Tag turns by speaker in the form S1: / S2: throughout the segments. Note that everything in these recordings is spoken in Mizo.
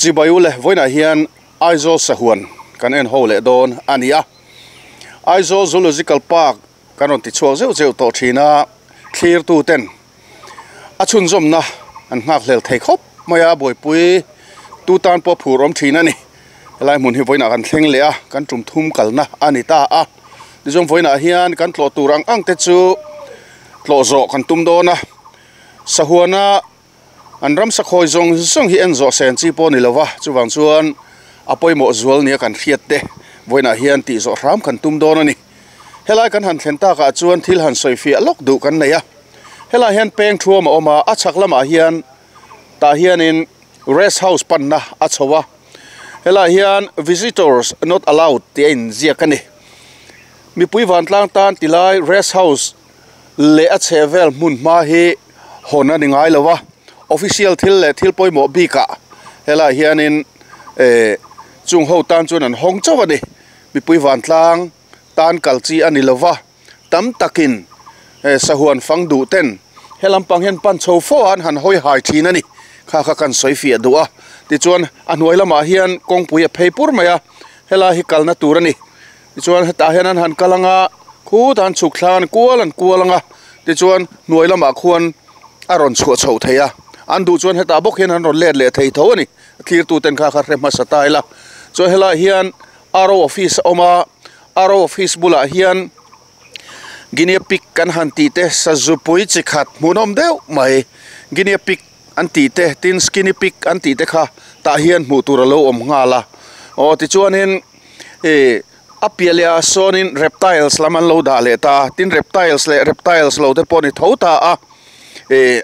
S1: Chibai ule vawiinah hian Aizawl sahuan kan en ho leh dawn a ni a. Aizawl Zoological Park kan rawn ti chhuak zeuh zeuh tawh thin a, thlirtu ten a chhunzawmna an nghak hlel thei khawp mai a, buaipui tu tan pawh phur awm thin a ni. Helai hmun hi vawiinah kan thleng leh a, kan tum thum kalna a ni ta a. Tichuan vawiinah hian kan tlawh tur ang ang te chu tlawh zawh kan tum dawn a, sahuana An ramsa khawi zawng zawng hi en zawh sen chi pawh a ni lo va, chuvang chuan a pawimawh zual nia kan hriat te vawiinah hian tih zawh hram kan tum dawn a ni. Helai kan han thlen takah chuan thil han sawi fiah lawk duh kan nei a, helai hian peng thuam a awm a, a chhak lamah hian tah hianin rest house panna a chho a, helai hian visitors not allowed tih a inziak a ni. Mipui vantlang tan tilai rest house leh a chheh vel hmun hma hi hawn a ni ngai lo a, official thil leh thil pawimawh bikah helaiah hianin eh chung ho tan chuan an hawng chauh a ni, mipui vantlang tan kal chi a ni lo va, tam takin eh sahuan fang duh ten he lampang hian pan chho fo a an han hawi hai thin a ni, kha kha kan sawi fiah duh a, tichuan a hnuai lamah hian kawngpui a phei pur mai a, helai hi kalna tur a ni. Tichuan hetah hian an han kal ang a, khutah an chhuk thlang an kual an kual ang a, tichuan hnuai lamah khuan a rawn chhuah chhoh thei a, an duh chuan hetah bawk hian an rawn let leh thei tho a ni, a thlirtu ten kha kha hre hmasa ta ila. Chuan helaiah hian R O office a awm a, R O office bulah hian Guinea pig kan han tih te sazupui chi khat hmuhnawm deuh mai Guinea pig an tih te tin skinny pig an tih te kha tah hian hmuh tur a lo awm nghal a, aw tichuanin Ih a piah leh ah sawnin reptiles lam an lo dah leh ta a tin reptiles leh reptiles lo te pawh a ni tho ta a ih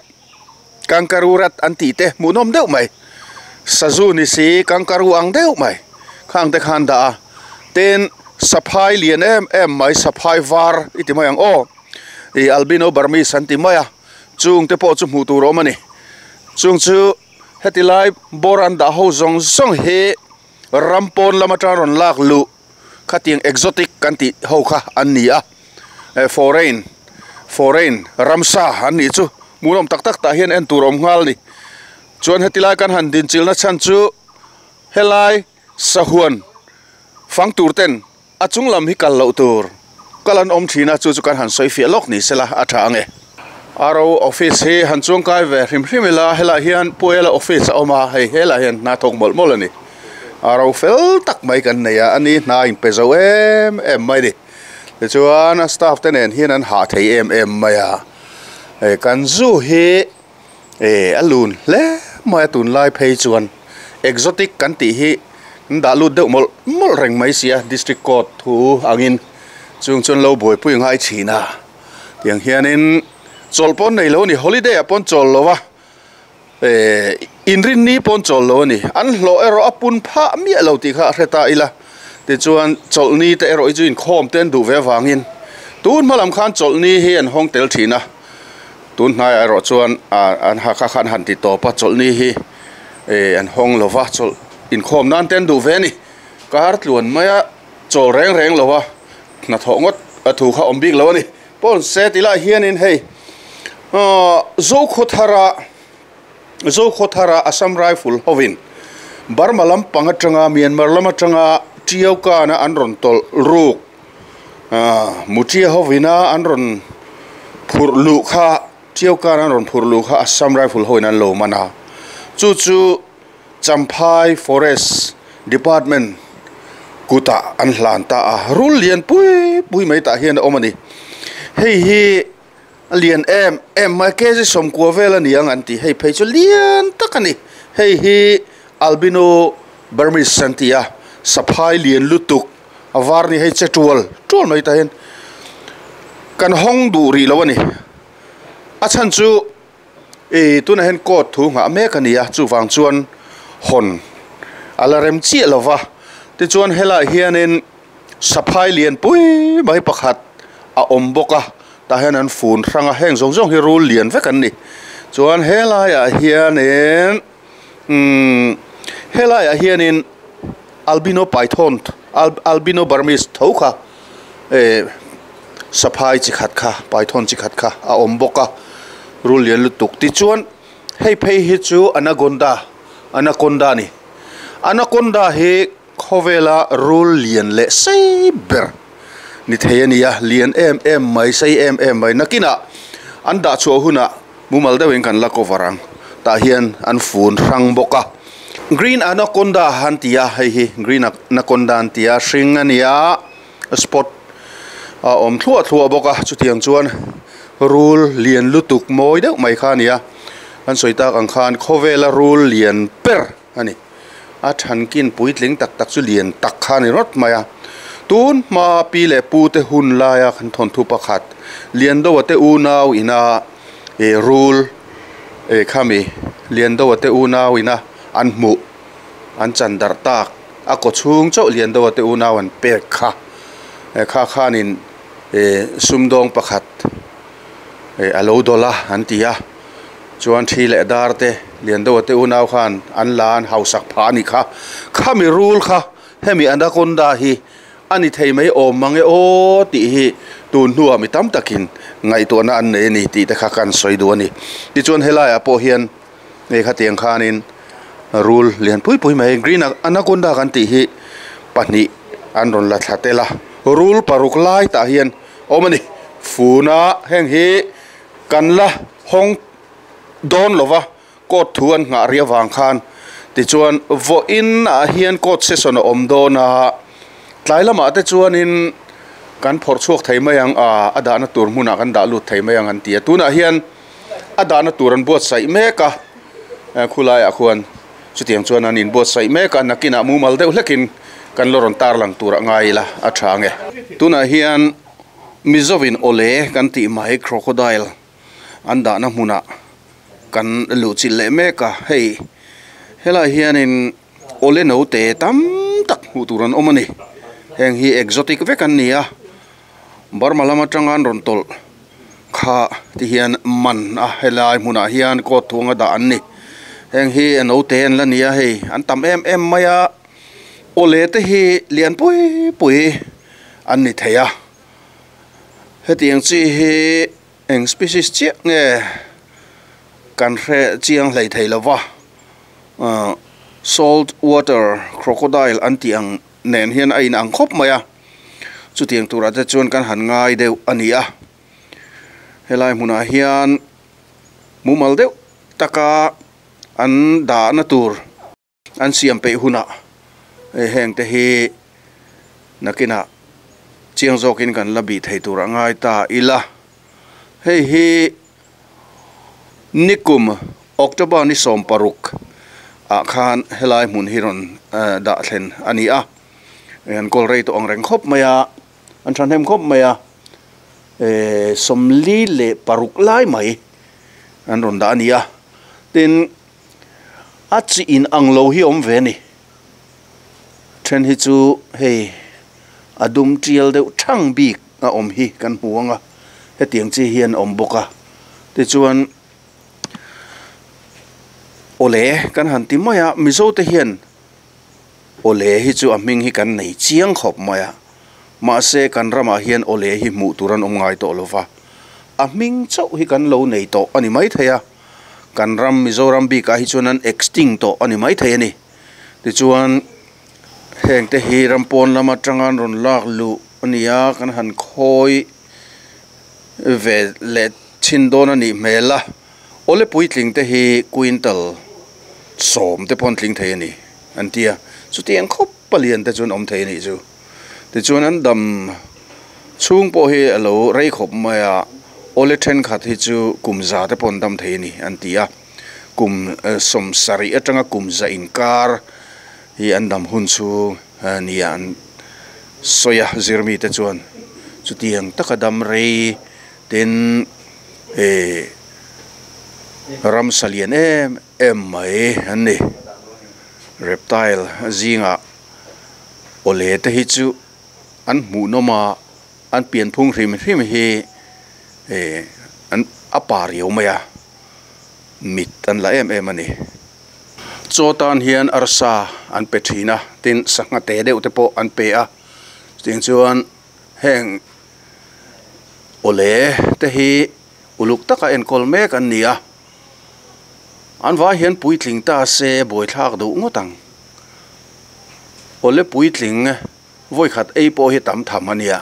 S1: kangaroo rat an tih te hmuhnawm deuh mai sazu ni si kangaroo ang deuh mai khang te kha an dah a tin saphai lian em em mai saphai var i ti mai ang aw ih albino burmese an ti mai a chung te pawh chu hmuh tur a awm a ni chung chu heti lai bawr an dah ho zawng zawng hi. Ram pawn lam atang rawn lak luh khatiang exotic kan tih ho kha an ni a, foreign foreign ramsa an nih chu hmuhnawm tak tak tah hian en tur a awm nghal a ni. Chuan heti lai kan han dinchilhna chhan chu helai sahuan fang tur ten a chung lam hi kal loh tur kal an awm thin a, chu chu kan han sawi fiah lawk ni sela a tha ang e. RO office hi han chuangkai ve hrim hrim ila helaiah hian Puela office a awm a, hei helaiah hian hna thawk mawlh mawlh a ni. RO fel tak mai kan nei a, ani hna a inpe zo em em mai a ni. Tichuan a staff te nen hian an hah thei em em mai a, hei kan zu hi Eh a lun hle mai a tunlai phei chuan exotic kan tih hi an dah lut deuh mawlh mawlh reng mai sia district court thu angin chung chuan lo buaipui ngai thin a tiang hianin chawlh pawn nei lo a ni holiday ah pawn chawl lo a eh inrinni pawn chawl lo a ni an hlawh erawh a pun phah miah lo tih kha a hre ta ila tichuan chawlhni te erawh hi chu inkhawm te an duh ve avangin tun hma lam khan chawlhni hi an hawng tel thin a. Tun hnaiah erawh chuan ah an ha kha khan han ti tawp a chawlhni hi eh an hawng lo va chawlh inkhawm nan te an duh ve a ni. Kar tluan maia chawl reng reng lo a hnathawh ngawt a thu kha awm bik lo a ni. Pawn se ti lai hianin hei aw Zokhawthara Zokhawthara Assam Rifle hovin Burma lampang atanga Myanmar lam atanga Tiau kana an rawn tawlh ruk ah Mutia hovina an rawn phurh luh kha Tiau kana an rawn phurh luh kha Assam Rifle hovin an lo man a, chu chu Champhai Forest Department kutah an hlan ta a, rul lian pui pui mai tah hian a awm a ni. Hei hi a lian em em mai kg sawmkua vel a ni ang an ti hei phei chu lian tak a ni hei hi albino burmese an ti a saphai lian lutuk a var ni hei che tual tual mai tah hian kan hawng duh rih lo a ni a chhan chu Ih tunah hian court thu nghah mek a ni a chuvang chuan hawn a la rem chiah lo va tichuan helaiah hianin saphai lian pui mai pakhat a awm bawk a tah hian an fun hrang a heng zawng zawng hi rul lian vek an ni chuan helaiah hianin umm helaiah hianin albino python albino burmese tho kha eh saphai chi khat kha python chi khat kha a awm bawk a rul lian lutuk tichuan hei phei hi chu anagonda anaconda a ni. Anaconda hi khawvela rul lian leh sei ber ni thei a ni a, lian em em mai, sei em em mai. Nakinah an dah chhuah hunah mumal deuhin kan la cover ang. Tah hian an fun hrang bawk a. Green Anaconda an ti a, hei hi Green Anaconda an ti a, hring a ni a, spot a awm thluah thluah bawk a, chutiang chuan rul lian lutuk mawi deuh mai kha a ni a. An sawi tak ang khan khawvela rul lian ber a ni. A thankin puitling tak tak chu lian tak kha a ni rawt mai a. Tun hma pi leh pu te hun laia kan thawnthu pakhat Liandoa te unau ina ih rul ih khami Liandoa te unau ina an hmuh an chan darh tak a kaw chhung chauh Liandoa te unau an pek kha kha khanin ih sumdawng pakhat ih a lo dawlh a an ti a. Chuan thi leh dar te Liandoa te unau khan an la an hausak phah a ni kha. Khami rul kha hemi anaconda hi a ni thei mai awm mang e aw tih hi tun hnuah mi tam takin ngaihtuahna an nei a ni tih te kha kan sawi duh a ni. Tichuan helaiah pawh hian hei khatiang khanin rul lian pui pui mai green anaconda kan tih hi pahnih an rawn la thla tel a. Rul paruk lai tah hian awm a ni. Funa heng hi. Kan la hawng dawn lo va, court thu an nghah rih avang khan. Tichuan, vawiin ah hian court session a awm dawn a, tlai lamah te chuanin kan phawrh chhuak thei mai ang a, a dahna tur hmunah kan dah lut thei mai ang an ti a. Tunah hian a dahna tur an buatsaih mek a, khulaiah khuan chutiang chuan an inbuatsaih mek a, nakinah mumal deuh hlekin kan la rawn tarlang tur a ngai ila a tha ang e. Tunah hian. Mizovin awle kan tih mai crocodile an dahna hmunah kan luh chilh leh mek a, hei helai hianin awle note tam tak hmuh tur an awm a ni, heng hi exotic vek an ni a, Burma lam atanga an rawn tawlh kha ti hian man a helai hmunah hian coat thuanga dah an ni, heng hi note an la ni a hei an tam em em mai a, awle te hi lian pui pui. An ni thei a, hetiang chi hi eng species chiah nge kan hre chiang hlei thei lo va, salt water crocodile an tih ang nen hian a inang khawp mai a, chutiang turah te chuan kan han ngai deuh a ni a, helai hmunah hian mumal deuh taka an dahna tur. An siam peih hunah heng te hi nakinah chiang zawkin kan la bih thei tur a ngai ta ila. Hei hi nikum October ni 16 ah khan helai hmun hi rawn dah thlen a ni a. An kawl rei tawh ang reng khawp mai a, an thahnem khawp mai a, 46 lai mai an rawn dah a ni a. Tin. A chi in ang lo hi awm ve a ni. Then hi chu hei a dum tial deuh thang bik a awm hi kan hmu ang a, hetiang chi hian awm bawk a. Tichuan awle kan han ti mai a, Mizo te hian awle hi chu a hming hi kan nei chiang khawp mai a, mahse kan ramah hian awle hi hmuh tur an awm ngai tawh lo va, a hming chauh hi kan lo nei tawh a ni maithei a. Kan ram Mizoram bikah hi chuan an extinct tawh a ni maithei a ni. Tichuan heng te hi ram pawn lam atanga an rawn lak luh a ni a, kan han khawi ve leh chhin dawn a nih hmel a. Awle puitling te hi quintal 10 te pawh an tling thei a ni an ti a, chutiang khawp palian te chu an awm thei a nih chu. Tichuan an dam chhung pawh hi a lo rei khawp mai a, awle thenkhat hi chu kum za te pawh an dam thei a ni an ti a, kum 70 atanga kum za inkar hi an dam hun chhung nia an sawi a, zirmi te chuan chutiang taka dam rei tin eh ramsa lian em em mai an ni, reptile zingah. Awle te hi chu an hmuhnawm a, an pianphung hrim hrim hi eh an a pa riau mai a, mit an la em em a ni. Chaw tan hian arsa an pe thin a, tin sangha te deuh te pawh an pe a, chutiang chuan heng awle te hi uluk taka enkawl mek an ni a, an vai hian puitling ta se buaithlak duh ngawt ang. Awle puitling vawikhat ei pawh hi tam tham a nia.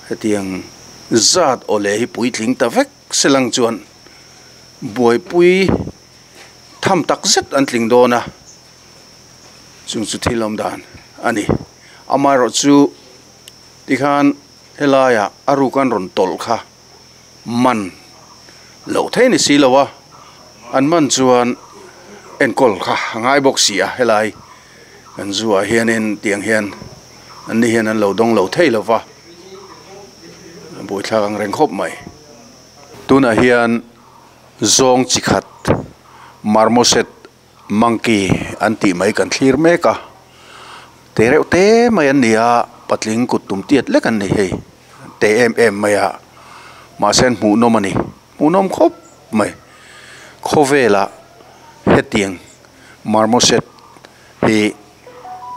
S1: Hetiang zat awle hi puitling ta vek selang chuan buaipui tham tak zet an tling dawn a, chung chu thil awm dan a ni. Amaherawhchu tikhan helaiah a ruk an rawn tawlh kha man loh thei ni si lo a, an man chuan enkawl kha a ngai bawk si a, helai kan zu ah hianin tiang hian an ni hian an lo dawng lo thei lo va, a buaithlak ang reng khawp mai. Tunah hian zawng chi khat marmoset Monkey an tih mai kan thlir mek a, te reuh te mai an ni a, patling kut tum tiat lek an ni hei, te em em mai a, mahse an hmuhnawm a ni, hmuhnawm khawp mai, khawvelah hetiang marmoset hi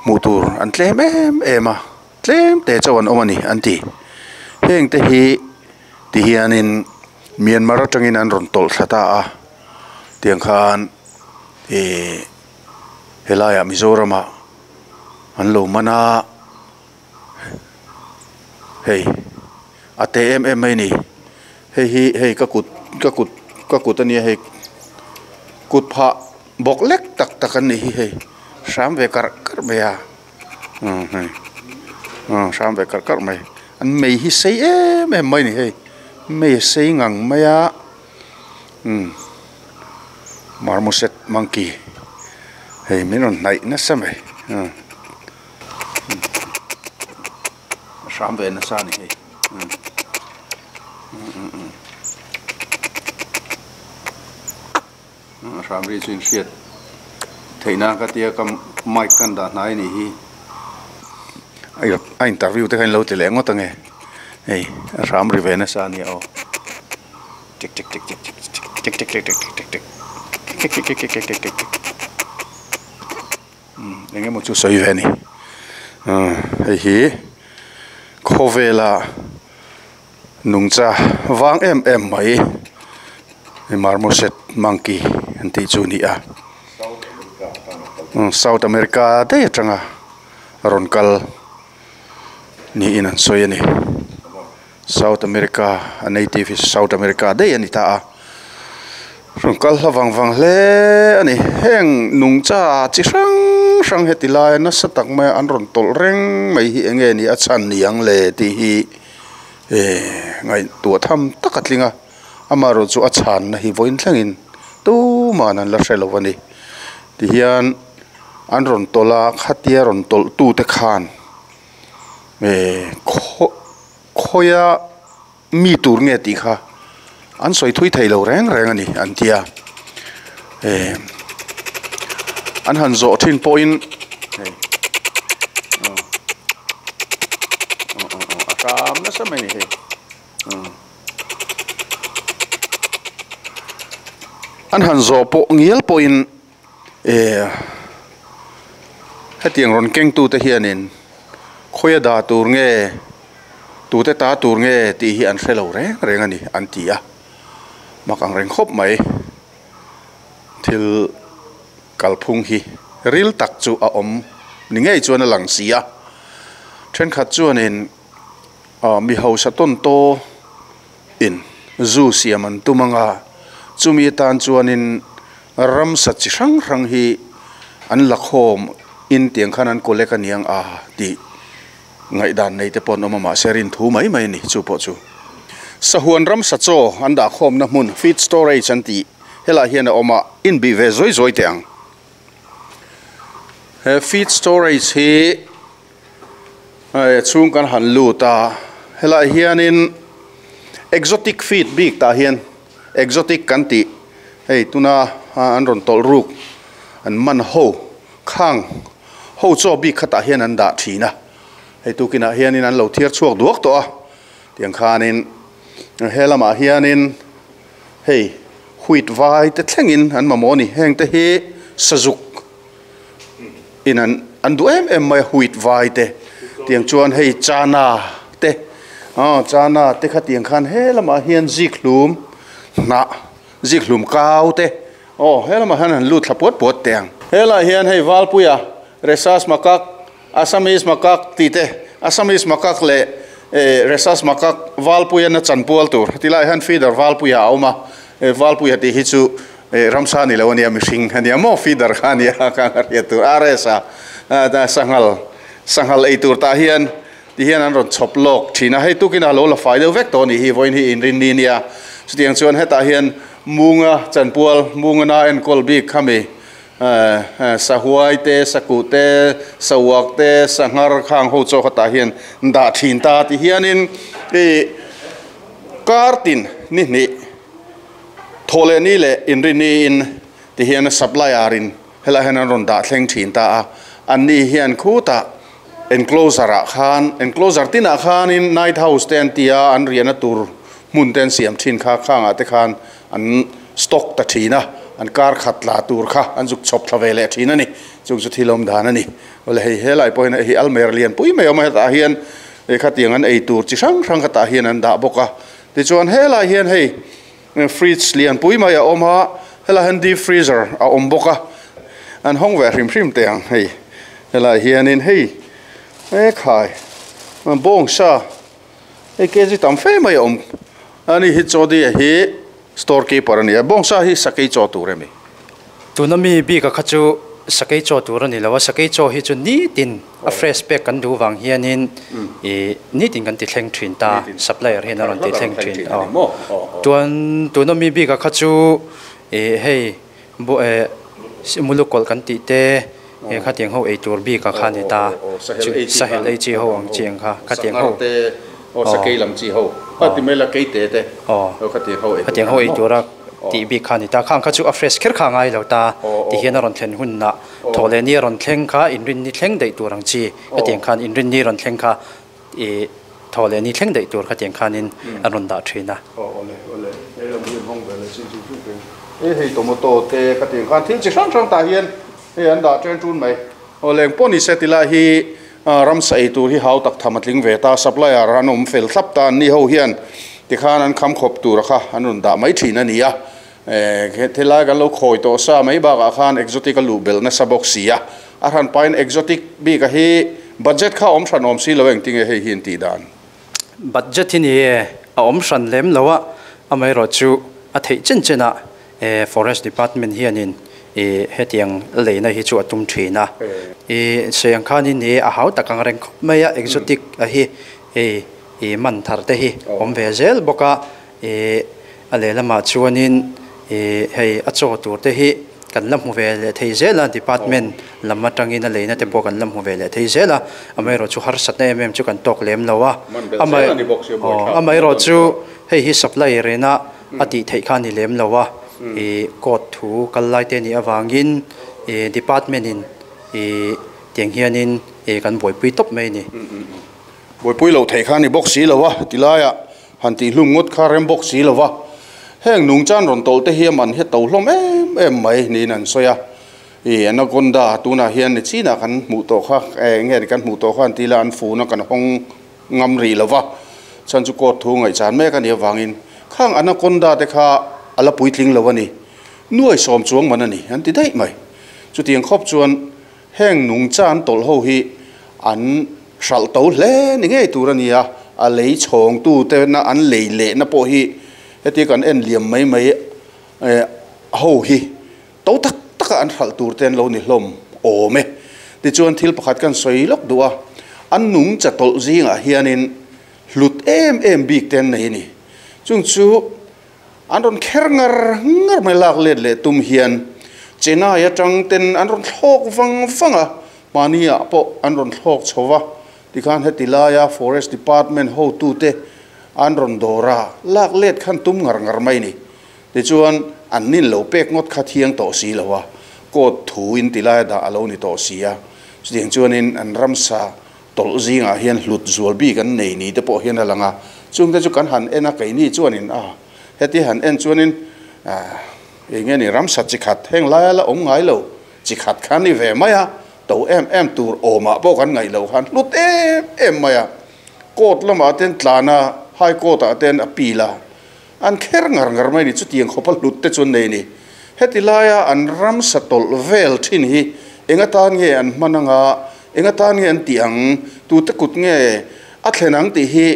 S1: hmuh tur an tlem em em a, tlem te chauh an awm a ni an ti, heng te hi ti hianin Myanmar atangin an rawn tawlh thla ta a. Tiang khan ih helaiah Mizoramah an lo man a, hei a te em em mai a ni. Hei hi hei ka kut ka kut ka kut a nia hei kut phah bawk lek tak tak an nih hi hei hram ve karh karh mai a umm hei umm hram ve karh karh mai an mei hi sei em em mai a ni hei mei a sei ngang mai a. Umm marmoset monkey hei min rawn hnaih nasa mai umm a hram ve nasa a ni hei umm umm a hram ri chu in hriat theih nan ka tia ka mic kan dah hnai a nih hi a interview te kha in lo ti leh ngawt ange hei a hram ri ve nasa a nia aw. Tik tik tik tik tik tik tik tik tik tik tik tik tik tik tik tik tik tik tik tik umm eng emaw chu sawi ve a ni umm hei hi khawvela nungcha vang em em mai marmoset monkey an tih chu a ni a south america daih atanga rawn kal niin an sawi a ni. South America a native hi South America daih a ni ta a, rawn kal hla vang vang hle a ni. Heng nungcha chi hrang hrang heti laia nasa tak maia an rawn tawlh reng mai hi eng nge ni a chhan ni ang le tih hi eh ngaihtuah tham tak a tling a, amaherawh chu a chhanna hi vawiin thlengin tuman an la hre lo a ni. Tihian an rawn tawlh a, khatia rawn tawlh tute khan. Eh khaw khawia mi tur nge tih kha an sawi thui thei lo reng reng a ni an tia eh an han zawh thin pawhin hei aw aw aw a hram nasa mai a ni hei an han zawh pawh ngial pawhin. Eh hetiang rawn kengtu te hianin khawia dah tur nge tute ta tur nge tih hi an hre lo reng reng a ni an ti a mak ang reng khawp mai thil kalphung hi ril tak chu a awm ni ngei chuan a lang si a thenkhat chuanin ah mi hausa tawn taw in zu siam an tum ang a, chumi atan chuanin ramsa chi hrang hrang hi an la khawm in tiang khan an collect a niang a tih ngaihdan nei te pawh an awm a, mahse rin thu mai mai a ni chu pawh chu. Sahuan ramsa chaw an dah khawmna hmun feed storage an tih helaiah hian a awm a, inbih ve zawi zawi teh ang. He feed storage hi. Hei a chhung kan han lut a, helaiah hianin exotic feed bik tah hian exotic kan tih hei tuna an rawn tawlh ruk an man ho khang ho chaw bik khatah hian an dah thin a, hei tukinah hianin an lo thiar chhuak duak tawh a tiang khanin he lamah hianin hei wheat vai te thlengin an mamawh a ni heng te hi sazuk. In an an duh em em mai a wheat vai te tiang chuan hei chana te aw chana te kha tiang khan he lamah hian zik hlum hnah zik hlum kau te aw he lamah hian an lut thla puat puat teh ang. Helaiah hian hei Valpuia Rhesus macaque, Assamese macaque tih te, Assamese macaque leh Rhesus macaque Valpuia na chanpual tur ti lai hian feeder Valpuia a awm a, Valpuia tih hi chu ramsa ni lo a nia mihring a nia maw feeder kha a nia kha a hriat tur RS a sanghal sanghal ei tur tah hian ti hian an rawn chhawp lawk thin a, hei tukin a lo la fai deuh vek tawh a nih hi vawiin hi inrinni nia chutiang chuan hetah hian Munga chanpual Munga na enkawl bik khami Sahuai te, sakuh te, sauak te, sanghar khang ho chaw khatah hian dah thin ta ti hianin ih kar tin ni hnih thawh leh ni leh inrini in ti hian supplier in helaiah hian an rawn dah thleng thin ta a, anni hian khutah enclosure ah khan enclosure tinah khanin night house te an ti a, an riahna tur hmun te an siam thin kha khangah te khan an stock ta thin a, an kar khat tla tur kha an zuk chhawp thla ve leh thin a ni. Chung chu thil awm dan a ni. Awle hei helai pawh hian hei almer lian pui mai a awm a, hetah hian hei khatiang an ei tur chi hrang hrang khatah hian an dah bawk a. Tichuan helai hian hei fridge lian pui mai a awm a, helai hian deep freezer a awm bawk a, an hawng ve hrim hrim teh ang hei helai hianin hei hekhai bawngsa Hei kg tam fe mai a awm a ni hi Chawdia hi store keeper a ni a, bawngsa hi sakei chaw tur em i?
S2: Tuna mi bik a kha chu sakei chaw tur a ni lo a, sakei chaw hi chu nitin a fresh pek kan duh vang hianin ih nitin kan ti thleng thin ta, supplier hian a rawn ti thleng thin aw. Chuan tuna mi bik a kha chu ih hei Mulukawlh kan tih te he khatiang ho ei tur bik a kha ni ta. Sahel ei chi ho ang chi ang kha khatiang ho. Khatiang ho ei tura tih bik kha ni ta. Khang kha chu a fresh kher kha a ngai lo ta ti hian a rawn thlen hunah thaw leh ni a rawn thleng kha inrinni thleng daih tur ang chi khatiang khan inrinni rawn thleng kha I thaw leh ni thleng daih tur khatiang khanin an rawn dah thin a.
S1: Aw awle awle he lam hi an hawng ve leh chin chu chu chu e hei tomato te khatiang khan thil chi hrang hrang tah hian hei an dah chen tun mai. Aw leng pawh ni se ti lai hi ramsa ei tur hi hau tak tham a tling ve ta supplier an awm fel thlap ta an ni ho hian tikhan an kham khawp tur a kha an rawn dah mai thin a ni a. Helai kan lo khawi tawh sa mai bakah khan exotic a luh belh nasa bawk si a, a hran pahin exotic bik a hi budget kha a awm hran awm si lo engtinge hei hi an tih dan?
S2: Budget hi ni e, a awm hran lem lo a, amaherawh chu a theih chen chen ah Forest Department hianin hetiang leina hi chu a tum thin a. I sawi ang khanin ni e, a hau tak ang reng khawp mai a, exotic a hi i man thar te hi awm ve zel bawk a. Ih a lehlamah chuanin ih hei a chaw tur te hi kan la hmu ve leh thei zel a, department lam atangin a leina te pawh kan la hmu ve leh thei zel a, amaherawh chu harsatna em em chu kan tawk lem lo a, amaherawh chu hei hi supply rena a tih theih kha a ni lem lo a, ih court thu kal lai te nih avangin ih department in ih tiang hianin ih kan buaipui tawp mai a ni.
S1: Buaipui loh theih kha a ni bawk si lo a, tilaiah Han tih hlum ngawt kha rem bawk si lo va, heng nungchan rawn tawlh te hi a man hi a to hlawm em em mai niin an sawi a. Ih Anaconda tunah hian ni chinah kan hmuh tawh kha eng nge kan hmuh tawh kha an ti ila an fun a kan hawng ngam rih lo va, chhan chu court thu ngaihchan mek a nih avangin khang Anaconda te kha a la puitling lo a ni, nuai sawm chuang man a ni an ti daih mai. Chutiang khawp chuan Heng nungchan tawlh ho hi an hralh to hle ni ngei tur a ni a, a lei chhawngtu te na an lei lehna pawh hi hetia kan en liam mai mai ho hi to tak taka an hralh tur te an lo ni hlawm awm e. Tichuan thil pakhat kan sawi lawk duh a, an nungcha tawlh zingah hianin hlut em em bik te an nei a ni. Chung chu An rawn kher ngar ngar mai lak let leh tum hian Chennai atang ten an rawn thlawk vang vang a, mahni ah pawh an rawn thlawk chho va, tikhan heti laia Forest Department hotute an rawn dawr a, lak let khan tum ngar ngar mai ni. Tichuan an nin lo pek ngawt kha thiang tawh si lo a, court thu in ti laia dah a lo ni tawh si a, chutiang chuanin an ramsa Tawlh zingah hian hlut zual bik an nei ni te pawh hian a lang a, chungte chu kan han en a, keini chuanin a heti han en chuanin eng nge ni ramsa chi khat heng laia la awm ngai lo chi khat kha ni ve mai a, to em em tur awmah pawh kan ngaih loh khan hlut em em mai a, court lamah ten tlan a, high court ah ten appeal a, an kher ngar ngar mai ni, chutiang khawpa hlut te chu an nei ni. Heti laia an ramsa tawlh vel thin hi Eng atan nge an hman anga, eng atan nge an tih ang, tute kut nge a thlen ang tih hi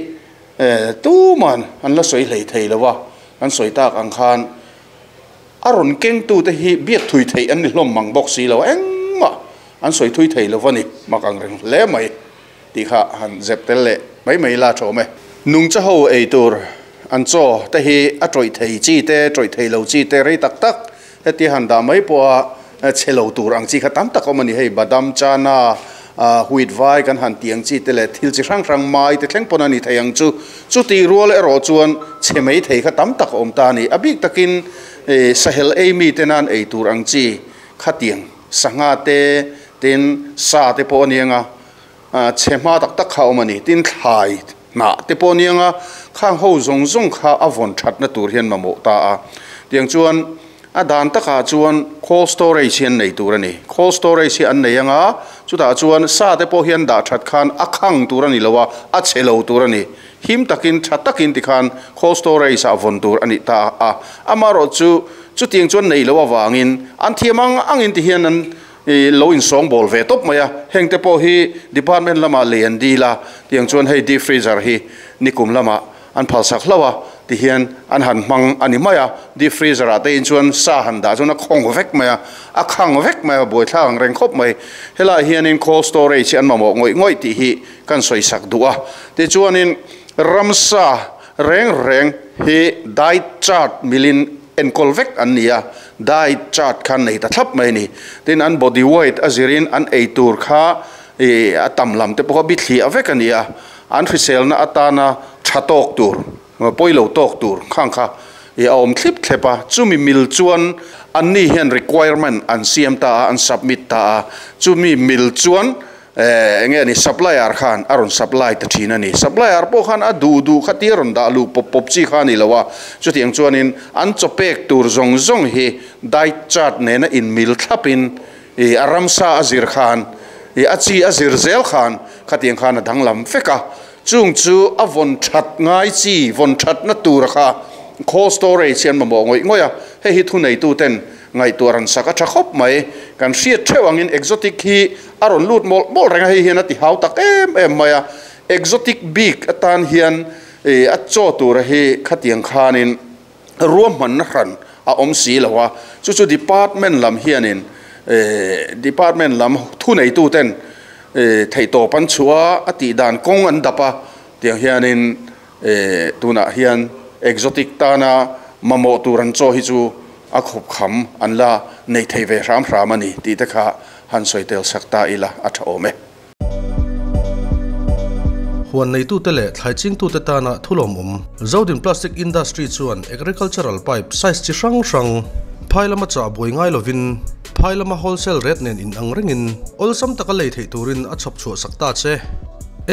S1: tuman an la sawi hlei thei lo a, kan sawi tak ang khan a rawn kengtute hi biak thui theih an ni hlawm mang bawk si lo a, engmah an sawi thui thei lo a ni, mak ang reng hle mai tih kha han zep tel leh mai mai la ṭhawm e. Nungcha ho ei tur an chaw te hi a ṭawih thei chi te, ṭawih thei lo chi te rei tak tak Hetia han dah mai pawha chhe lo tur ang chi kha tam tak awm a ni. Hei badam, chana, wheat vai kan han tih ang chi te leh thil chi hrang hrang mai te thleng pawn a ni thei ang chu. Chuti rual erawh chuan chhe mai thei kha tam tak a awm ta a ni. A bik takin sahel ei mi te nan ei tur ang chi khatiang sangha te, tin sa te pawh a ni ang a, chhe hma tak tak kha a awm a ni. Tin thlai hnah te pawh a ni ang a, khang ho zawng zawng kha a vawn thatna tur hian mamawh ta a. Tiang chuan a dan takah chuan cold storage hi an nei tur a ni. Cold storage hi an nei ang a, chutah chuan sa te pawh hian dah that khan a khang tur a ni lo a, a chhe lo tur a ni. Him takin tha takin tikhan cold storage ah vawn tur a nih ta a. Amaherawh chu chutiang chuan nei loh avangin an thiam ang angin tihian an I lo insawngbawl ve tawp mai a, heng te pawh hi department lamah lei an dil a, tiang chuan hei deep freezer hi nikum lamah an phalsak hlauh a, tihian an han hmang a ni mai a, deep freezer ah te in chuan sa han dah chuan a khawng vek mai a, a khang vek mai a, buaithlak ang reng khawp mai. Helaiah hianin cold storage hi an mamawh ngawih ngawih tih hi kan sawisak duh a, tichuanin ramsa reng reng hi diet chart milin enkawl vek an ni a, diet chart kha nei ta thlap mai a ni. Tin, an body weight a zirin an ei tur kha ih a tam lam te pawh kha bithliah vek a ni a, an hriselna atana tha tawk tur, pawi lo tawk tur khang kha ih a awm thlip thlep a, chumi mil chuan anni hian requirement an siam ta a, an submit ta a, chumi mil chuan Eh, enge ni supplier khan a rawn supply ta thin a ni. Supplier pawh khan a duh duh kha tia rawn dah luh pawp pawp chi kha a ni lo a. Chutiang chuanin an chaw pek tur zawng zawng hi diet chart nena inmil thlapin ih a ramsa a zir khan ih a chi a zir zel khan khatiang khan a danglam vek a. Chung chu a vawn that ngai chi, vawn thatna tura kha cold storage hi an mamawh ngawih ngawih a. Hei hi thuneituten ngaihtuah ran sak a tha khawp mai. Kan hriat theuh angin exotic hi a rawn lut mawlh mawlh reng a, hei hian a ti hau tak em em mai a. Exotic bik atan hian ih a chaw tura hi khatiang khanin ruahmanna hran a awm si lo a, chu chu department lam hianin ih department lam thuneituten ih theihtawp an chhuah a, a tih dan kawng an dap a, tiang hianin ih tunah hian exotic tana mamawh tur an chaw hi chu a khawp kham an la nei thei ve hram hram a ni tih te kha han sawi tel sak ta ila a tha awm e.
S3: Huan neitute leh thlai chingtute tana thulawmawm Zodin Plastic Industry chuan agricultural pipe size chi hrang hrang phai lama chah buai ngai lovin phai lama wholesale rate nen inang rengin awlsam taka lei theih turin a chhawp chhuah sak ta che.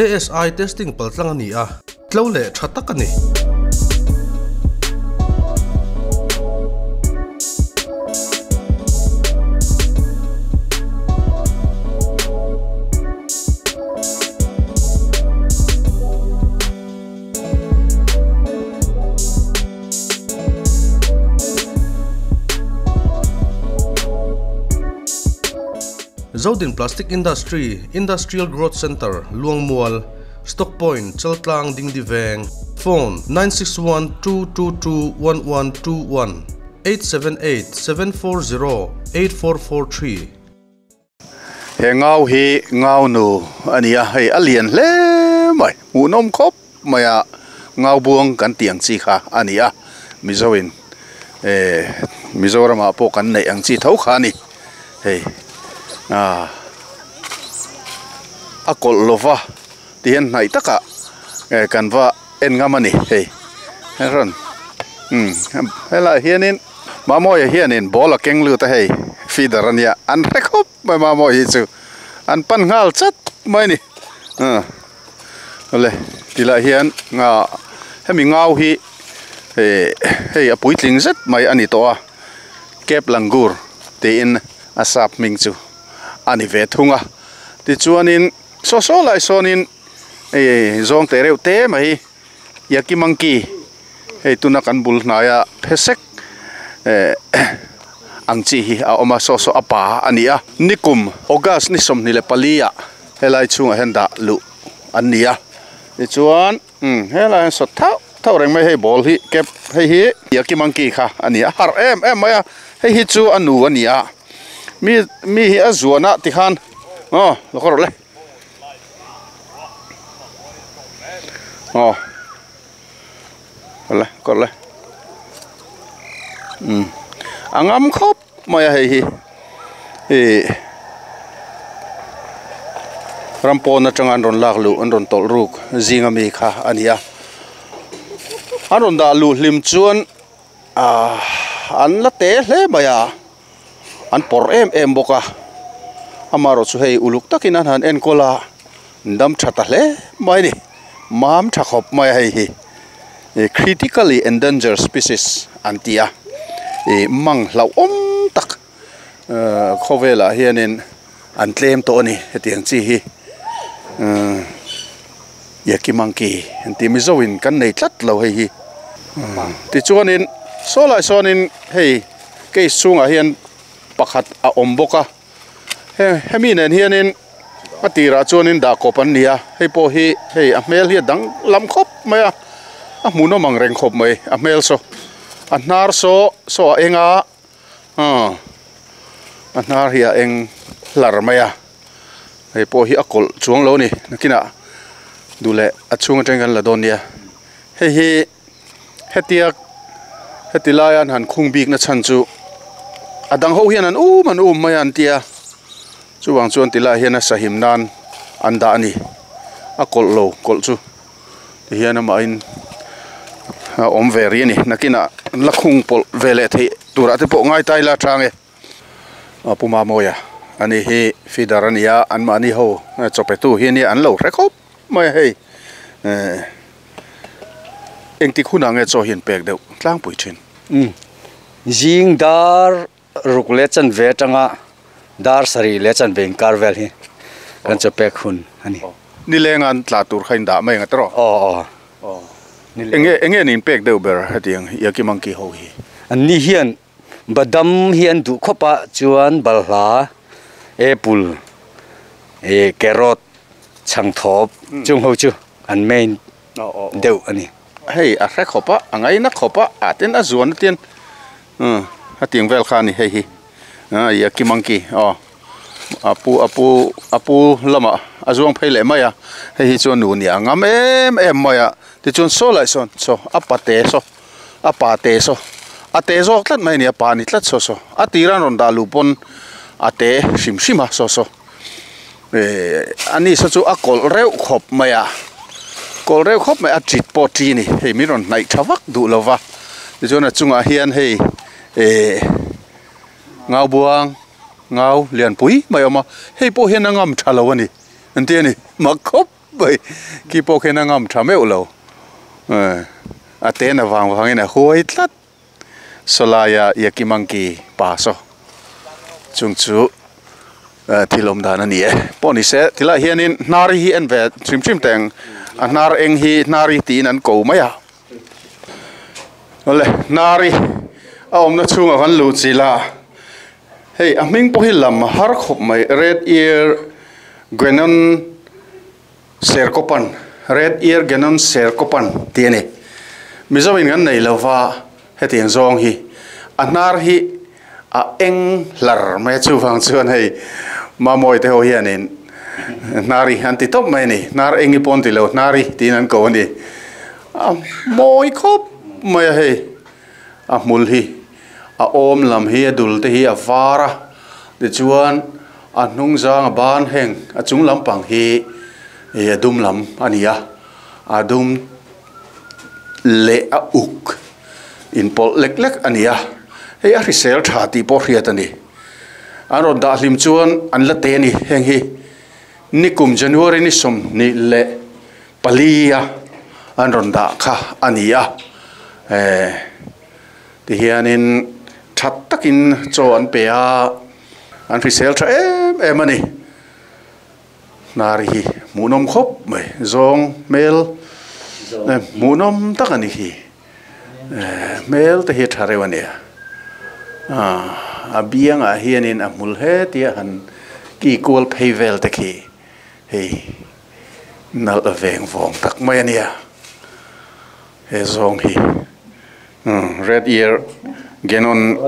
S3: ASI testing paltlang a ni a. Tlo leh tha tak a ni. Zodin Plastic Industry, Industrial Growth Centre, Luangmual, Stock Point, Chaltlang Dingdi Veng, Phone, 9612221121, 8787408443.
S1: He ngau hi ngau nu a ni a, hei a lian hle mai, hmuhnawm khawp mai a, ngau buang kan tih ang chi kha a ni a, Mizo in eh Mizoramah pawh kan neih ang chi tho kha a ni, hei ah. A kawlh lova ti hian hnaih takah eh kan va en ngam a ni hei rawn umm helaiah hianin Mamawia hianin ball a keng lut a hei feeder a nia an hre khawp mai Mamawia hi chu an pan nghal chat mai a ni ah awle tilaiah hian ah hemi ngau hi eh hei a puitling zet mai a ni tawh a Cape Langur tiin a sap hming chu. a ni ve thung a tichuanin saw saw lai sawnin hei zawng teh reuh te mai yaki monkey hei tuna kan bul hnaia phesek eh Ang chi hi a awm a, saw saw a pa a ni a. Nikum August ni 24 ah helai chhungah hian dah luh an ni a. Tichuan umm helai hian sawt thauh thauh reng mai hei ball hi cap hei hi Yaki monkey kha a ni a, a harh em em mai a, hei hi chu a nu a ni a. Mi mi hi a zuan a tikhan aw lo khaw rawh le aw. Awle kawr le umm a ngam khawp mai a hei hi ih ram pawn atanga an rawn lak luh an rawn tawlh ruk zing ami kha a ni a an rawn dah luh hlim chuan ahh an la te hle mai a an pawrh em em bawk a amaherawh chu hei uluk takin an han enkawl a dam tha ta hle mai a ni mam tha khawp mai a hei hi ih critically endangered species an ti a ih mang hlauhawm tak ahh khawvelah hianin an tlem tawh a ni hetiang chi hi ahh Yaki monkey an tih Mizo in kan nei tlat lo hei hi tichuanin saw lai sawnin hei case chhungah hian pakhat a awm bawk a he hemi nen hianin a tirah chuanin dah kawp an ni a hei pawh hi hei a hmel hi a dang lam khawp mai a a hmuhnawm ang reng khawp mai a hmel saw a hnar saw saw a eng a aw a hnar hi a eng hlar mai a. Hei pawh hi a kawlh chuang lo a ni nakinah duh leh a chhung atangin kan la dawn nia hei hi hetia heti laia an han khung bik na chhan chu a dang ho hian an um an um mai a an tia chuvang chuan ti lai hian a sahim nan an dah a ni a kawlh lo kawlh chu ti hian amahin a awm ve rih a ni nakinah an la khung pawlh ve leh theih turah te pawh ngai ta ila a chang e. A pu Mamawia ani hi feeder a ni a anmahni ho chaw pe tu hi ania an lo hre khawp mai a hei ehh engtik hunah nge chaw hi an pek deuh tlangpui thin.
S2: Umm zing dar ruk leh chanve atanga dar sarih leh chanve inkar vel hi kan chaw pek hun a ni.
S1: Nileng an tla tur kha in dah mai ang a tawh.
S2: Aw aw.
S1: Enge enge an inpek deuh ber hetiang Yaki Monkey ho hi?
S2: Anni hian Badam hi an duh khawp a chuan balhla, apple, eh carrot, chhangthawp chung ho chu an main deuh a ni.
S1: Hei a hre khawp a, a ngaina khawp a, ah tin a zuan a tin umm a tiang vel kha a ni hei hi ah yaki monkey aw a pu a pu a pu lamah a zuang phei leh mai a hei hi chuan nu nia ngam em em mai a tichuan saw lah sawn saw a pate saw. A pa te saw a te zawk tlat mai a ni a pa ni tlat saw saw a tira an rawn dah luh pawn a te hrim hrim a saw saw eh a ni saw chu a kawlh reuh khawp mai a kawlh reuh khawp mai a tit pawh a ti a ni hei min rawn hnaih tha vak duh lo va tichuan a chungah hian hei eh ngau buang ngau lianpui mai a awm a hei pawh hian a ngam tha lo a ni an ti a ni mak khawp. Pai khi pawh khian a ngam tha meuh lo a ten avang vangin a huai tlat sawlaia Yaki Monkey pa saw chung chu thil awm dan a ni e pawh ni se tilaiah hianin hnar hi en ve hrim hrim teh ang a hnar eng hi hnar hi tiin an ko mai a awle hnar hi a awmna chhungah kan luh chilh a hei a hming pawh hi lam a har khawp mai red ear Guenon Serkopan, Red Ear Guenon Serkopan tih a ni. Mizoin kan nei lova hetiang zawng hi a hnar hi a eng hlar mai a chuvang chuan hei Mamawi te ho hianin hnar hi an ti tawp mai a ni. Hnar eng hi pawh an ti lo, hnar hi tiin an ko a ni. A mawi khawp mai a hei a hmul hi a awm lam hi a dul te hi a var a tichuan A hnung zang a ban heng a chung lampang hi ih a dum lam a ni a, a dum leh a uk inpawlh lek lek a ni a, hei a hrisel tha tih pawh hriat a ni. An rawn dah hlim chuan an la te a ni, heng hi nikum January ni 24 a an rawn dah kha a ni a, eh tihianin tha takin chaw an pe a. An hrisel tha em em a ni. Hnari hi hmuhnawm khawp mai. Zawng hmel hmuhnawm tak a ni hi. Hmel te hi a tha reuh a nia. A biangah hianin a hmul hetia han ki kual phei vel te khi hei nalh veng vawng tak mai a nia. He zawng hi red ear guenon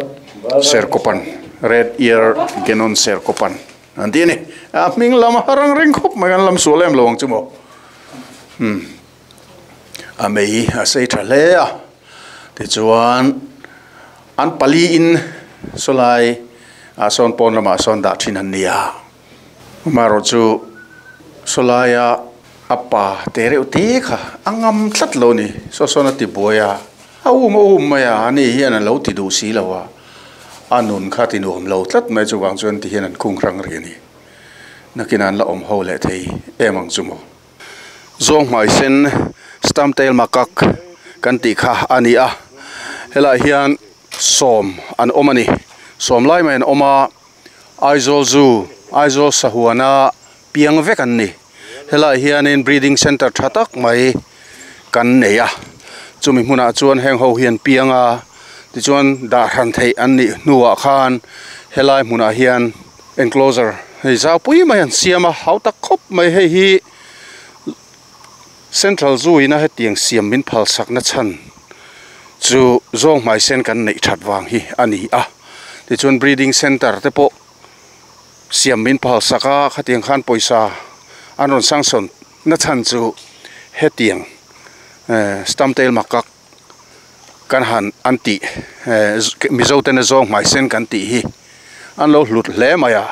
S1: serkopan red ear guenon serkopan an tih a ni. A hming lam a rang reng khawp mai an lam sual em lo ang chu maw. A mei a sei tha hle a tichuan an pali in sawlai ah sawn pawn lamah sawn dah thin an ni a amaherawh chu sawlaia a pa te reuh te kha a ngam tlat lo a ni saw sawn a ti buai a a um a um mai a ani hian a lo ti duh si lo a a nun kha ti nuam lo tlat mai chuvang chuan ti hian an khung hrang rih a ni nakinah an la awm ho leh thei em ang chu maw. Zawng hmai sen stamp tail macaque kan tih kha a ni a helaiah hian sawm an awm a ni sawm lai mai an awm a Aizawl zoo Aizawl sahuana piang vek an ni helaiah hianin breeding center tha tak mai kan nei a chumi hmunah chuan heng ho hi an piang a tichuan dah hran theih an nih hnuah khan helai hmunah hian enclosure hei zau pui mai an siam a hau tak khawp mai hei hi central zoo ina hetiang siam min phal sakna chhan chu zawng hmai sen kan neih that vang hi a ni a tichuan breeding center te pawh siam min phal sak a khatiang khan pawisa an rawn sanction na chhan chu hetiang stamp tail macaque kan han an tih mizo tena zawng hmai sen kan tih hi an lo hlut hle mai a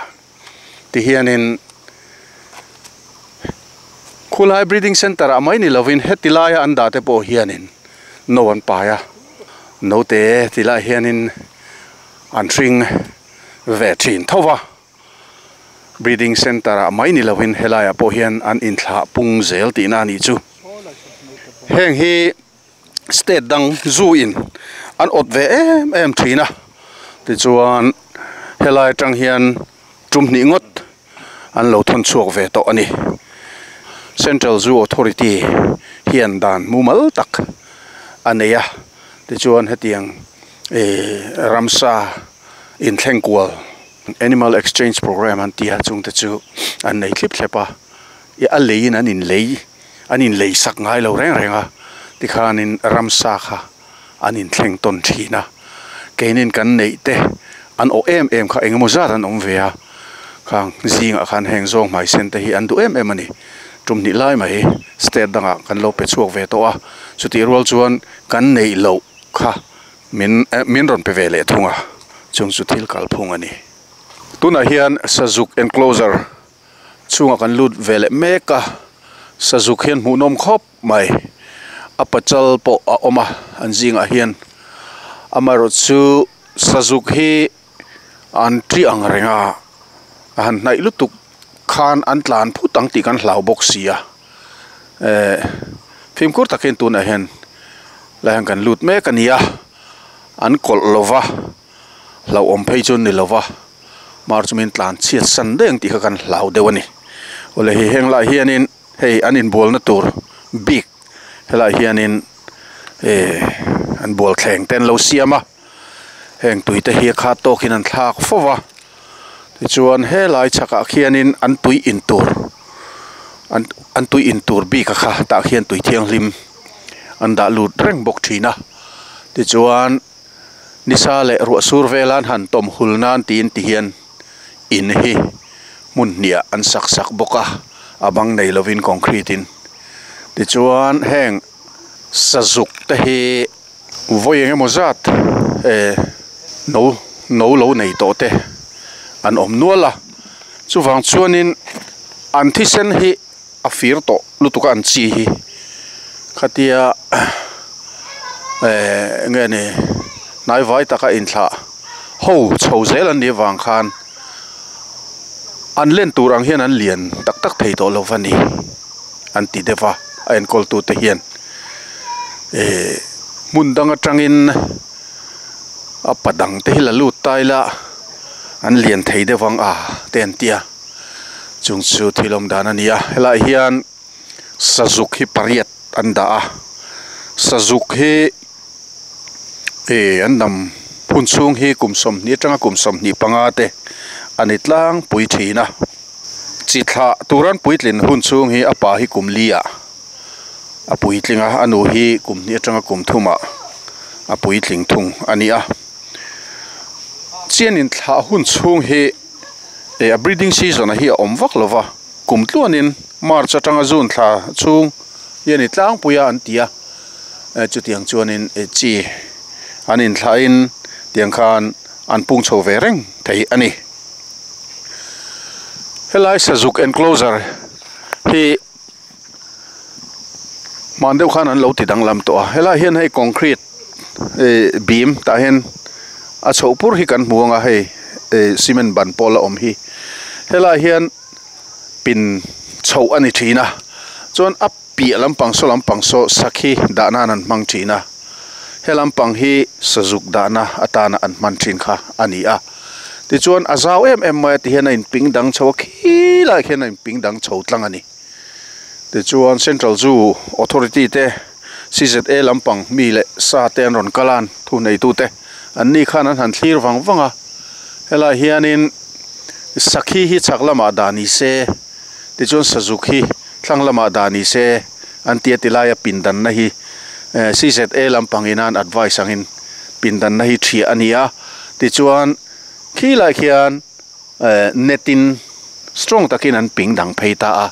S1: tihianin khulai breeding center ah mai ni lovin heti laia an dah te pawh hianin no an pai a naute ti lai hianin an hring ve thin tho va. Breeding Centre ah mai ni lovin helaiah pawh hian an inthlah pung zel tihna a nih chu. Heng hi state dang zu in an awt ve em em thin a, tichuan helai atang hian tum hnih ngawt an lo thawn chhuak ve tawh a ni. Central Zoo Authority hian dan mumal tak a nei a, tichuan hetiang eh ramsa inthleng kual Animal exchange programme an ti a chungte chu an nei thlip thlep a ih a leiin an inlei an inlei sak ngai lo reng reng a tikhanin ramsa kha an inthleng tawn thin a keinin kan neih te an awh em em kha engemaw zat an awm ve a khang zingah khan heng zawng hmai sen te hi an duh em em a ni tum hnih lai mai state dangah kan lo pe chhuak ve tawh a chutih rual chuan kan neih loh kha Min min rawn pe ve leh thung a, chung chu thil kalphung a ni. Tunah hian sazuk enclosure chhungah kan lut ve leh mek a, sazuk hian hmuhnawm khawp mai. A pachal pawh a awm a an zingah hian. Amaherawh chu sazuk hi an ṭi ang reng a, a han hnaih lutuk khan an tlan phut ang tih kan hlau bawk si a. Eh fimkhur takin tunah hian lai hian kan lut mek a ni a an kawlh lo va hlauhawm phei chu ni lo va mar chu min tlan chhiat san daih ang tih kha kan hlau deuh a ni awle hei heng lai hianin hei an inbualna tur bik helaiah hianin eh an bual thleng te an lo siam a heng tui te hi a khat tawkin an thlak fo va tichuan helai chhakah khianin an tui in tur an an tui in tur bik a kha tah khian tui thianghlim an dah lut reng bawk thin a tichuan nisa leh ruah sur vela an han tawm hul nan tiin ti hian in hi hmun hniah an sak sak bawk a a bang nei lovin concrete in tichuan heng sazuk te hi. Vawi eng emaw zat eh no no lo nei tawh te an awm nual a, chuvang chuanin an thisen hi a fir tawh lutuk a an chi hi khatia eh nge ni hnaivai taka inthlah ho chho zel an nih avang khan an len tur ang hian an lian tak tak thei tawh lo va ni an ti deuh va a enkawl tute hian. Eh hmun dang atangin a pa dang te hi la lut ta ila an lian thei deuh ang a te an ti a chung chu thil awm dan a ni a helaiah hian sazuk hi pariat an dah a sazuk hi eh an dam hun chhung hi kum 20 atanga kum 25 te a ni tlangpui thin a. Chi thlah turan puitlin hun chhung hi a pa hi kum li ah a puitling a, a nu hi kum hnih atanga kum thum ah a puitling thung a ni a. Chian in thlah hun chhung hi eh a breeding season a hi a awm vak lo va, kum tluanin March atanga June thla chhung hi a ni tlangpui a an ti a, chutiang chuanin chi an inthlahin tiang khan an pung chho ve reng thei a ni. Helai sazuk enclosure hi hman deuh khan an lo ti danglam tawh a, helai hian hei concrete eh beam tah hian a chhoh pur hi kan hmu ang a hei eh cement ban pawh la awm hi helai hian pin chhoh a ni thin a chuan a piah lampang saw lampang saw sakhi dah nan an hmang thin a he lampang hi sazuk dahna atana an hman thin kha a ni a tichuan a zau em em mai a tihian a inping dang chho a khilaiah khian a inping dang chho tlang a ni tichuan central zoo authority te C_Z_A lampang mi leh sa te an rawn kal a thu neitute an ni khan an han thlir vang vang a helaiah hianin sakhi hi chhak lamah dah ni se tichuan sazuk hi thlang lamah dah ni se an ti a ti laia pindanna hi C_Z_A lampang in an advice angin pindanna hi thiah a ni a tichuan khilaiah khian net in strong takin an ping dang phei ta a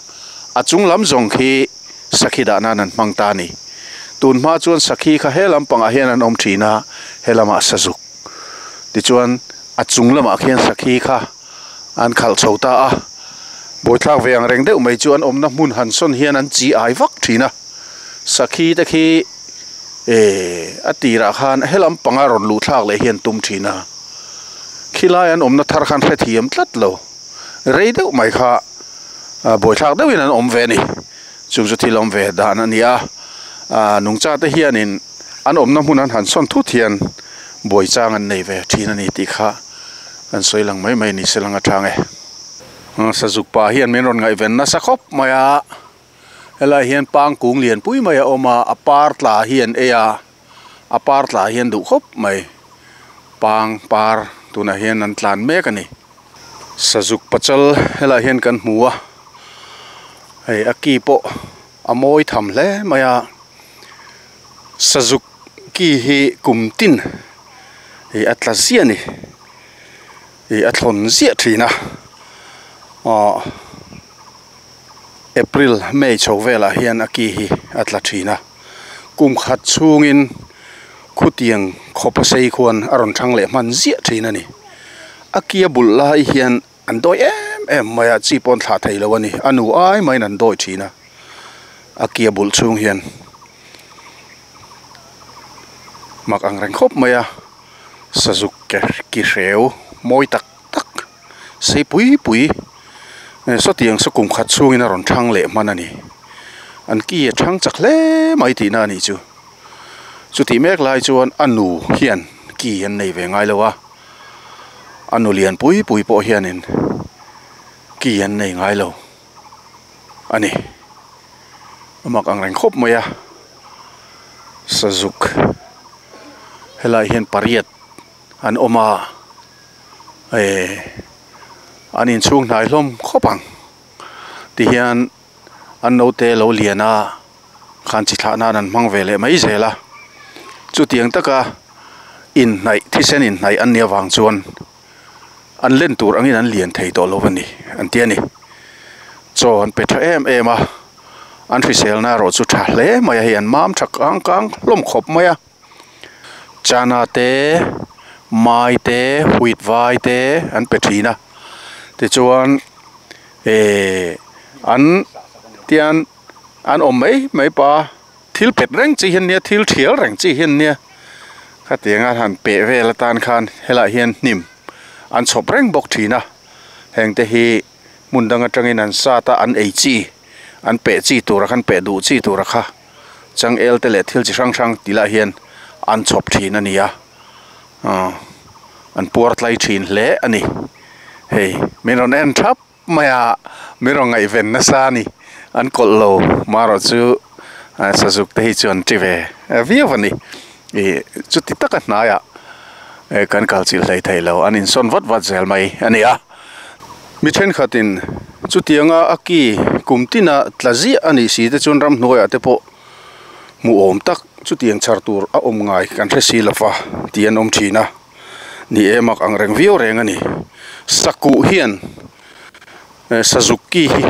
S1: a chung lam zawng khi sakhi dah nan an hmang ta a ni tun hma chuan sakhi kha he lampangah hian an awm thin a he lamah sazuk tichuan a chung lamah khian sakhi kha an khalh chho ta a bawithlak ve ang reng deuh mai chu an awmna hmun han sawn hian an chi ai vak thin a sakhi te khi eh a tirah khan he lampanga rawn luh thlak leh hi an tum thin a khilai an awmna thar khan hrethiam tlat lo rei deuh mai kha bawithlak deuhin an awm ve a ni chung chu thil awm ve dan a ni a ah nungcha te hianin an awmna hmun an han sawn thut hian buai chang an nei ve thin a ni tih kha kan sawi lang mai mai ni se lang atang e. Sazuk pa hian min rawn ngaihven nasa khawp mai a helai hian pangkung lian pui mai a awm a a par tla hi an ei a a par tla hian duh khawp mai pang par tunah hian an tlan mek a ni. Sazuk pachal helai hian kan hmu a hei a ki pawh a mawi tham hle mai a sazuk ki hi kum tin ih a tla ziah a ni ih a thlawn ziah thin a aw April May chho velah hian a ki hi a tla thin a kum khat chhungin khutiang khawpa sei khuan a rawn thang leh hman ziah thin a ni a ki a bulh lai hian an dawi em em mai a chi pawh an thlah thei lo a ni a nu ai maiin an dawi thin a a ki a bulh chhung hian mak ang reng khawp mai a sazuk ki hreu mawi tak tak sei pui pui sawtiang saw kum khat chhungin a rawn thang leh hman a ni an ki a thang chak hle mai tihna a nih chu chutih mek lai chuan a nu hian ki an nei ve ngai lo a a nu lian pui pui pawh hianin ki an nei ngai lo a ni a mak ang reng khawp mai a sazuk helaiah hian pariat an awm a eh an inchhung hnai hlawm khawp ang tihian an naute lo lian a khan chi thlah nan an hmang ve leh mai zel a chutiang taka inhnaih thisen inhnaih an nih avang chuan an len tur angin an lian thei tawh lo a ni an ti a ni chaw an pe tha em em a an hriselna erawh chu tha hle mai a hei an mam tha kang kang hlawm khawp mai a. Chana te mai te wheat vai te an pe thin a tichuan ehh an tian an awm mai mai pa thil pet reng chi hian nia thil thial reng chi hian nia khatiang a han peh vel atan khan helaiah hian hnim an chhawp reng bawk thin a heng te hi hmun dang atangin an sat a an ei chi an peh chi tura khan peh duh chi tura kha. Changel te leh thil chi hrang hrang tih lah hian an chhawp thin a ni a aw an puar tlai thin hle a ni hei min rawn en thap mai a min rawn ngaihven nasa a ni an kawlh lo marawh chu sazuk te hi chu an ti ve viau a ni ih chuti taka hnaiah. Kan kal chilh hlei thei lo, an insawn vat vat zel mai a ni a. Mi thenkhatin chutianga a ki kum tina tla ziah a nih si te chuan ramhnuaiah te pawh hmuhawm tak chutiang chhar tur a awm ngai kan hre si lo va tih an awm thin a. Ni e mak ang reng viau reng a ni. Sakuh hian sazuk ki hi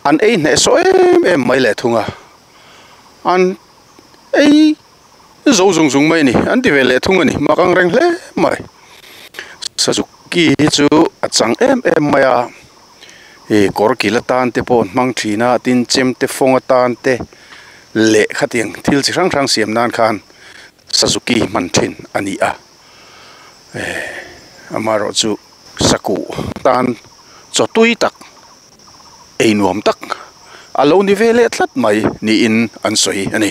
S1: an ei hnehsawh em em mai leh thung a, an ei zo zung zung mai a ni, an ti ve leh thung a ni, mak ang reng hle mai. Sazuk ki hi chu a chang em em mai a, ih kawr kil atan te pawh an hmang thin a, tin chemte fawng atan te leh khatiang thil chi hrang hrang siam nan khan Suzuki hman thin a ni a, amaherawh chu sakuh tan chaw tui tak ei nuam tak a lo ni ve leh tlat mai niin an sawi a ni.